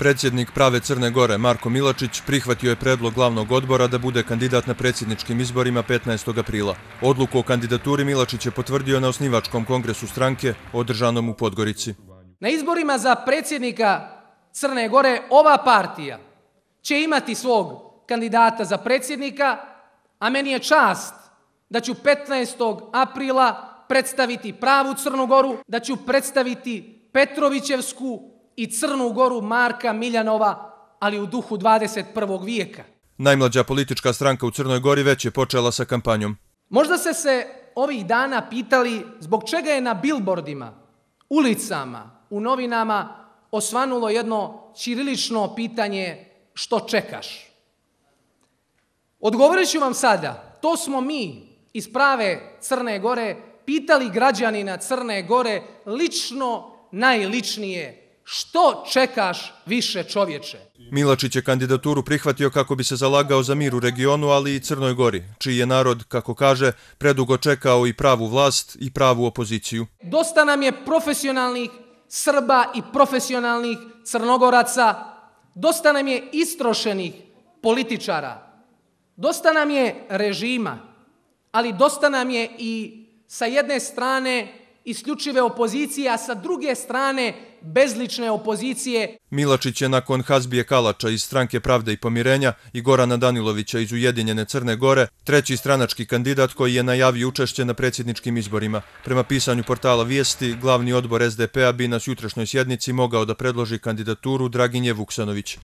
Predsjednik Prave Crne Gore, Marko Milačić, prihvatio je predlog glavnog odbora da bude kandidat na predsjedničkim izborima 15. aprila. Odluku o kandidaturi Milačić je potvrdio na osnivačkom kongresu stranke, održanom u Podgorici. Na izborima za predsjednika Crne Gore ova partija će imati svog kandidata za predsjednika, a meni je čast da ću 15. aprila predstaviti pravu Crnu Goru, da ću predstaviti Petrovićevsku i Crnu Goru Marka Miljanova, ali u duhu 21. vijeka. Najmlađa politička stranka u Crnoj Gori već je počela sa kampanjom. Možda ste se ovih dana pitali zbog čega je na bilbordima, ulicama, u novinama osvanulo jedno ćirilično pitanje što čekaš. Odgovorit ću vam sada, to smo mi iz Prave Crne Gore pitali građanina Crne Gore lično, najličnije. Što čekaš više, čovječe? Milačić je kandidaturu prihvatio kako bi se zalagao za mir u regionu, ali i Crnoj Gori, čiji je narod, kako kaže, predugo čekao i pravu vlast i pravu opoziciju. Dosta nam je profesionalnih Srba i profesionalnih Crnogoraca, dosta nam je istrošenih političara, dosta nam je režima, ali dosta nam je i sa jedne strane isključive opozicije, a sa druge strane bezlične opozicije. Milačić je nakon Hazbije Kalača iz Stranke Pravde i pomirenja i Gorana Danilovića iz Ujedinjene Crne Gore treći stranački kandidat koji je najavio učešće na predsjedničkim izborima. Prema pisanju portala Vijesti, glavni odbor SDP-a bi na jutrašnjoj sjednici mogao da predloži kandidaturu Draginje Vuksanović.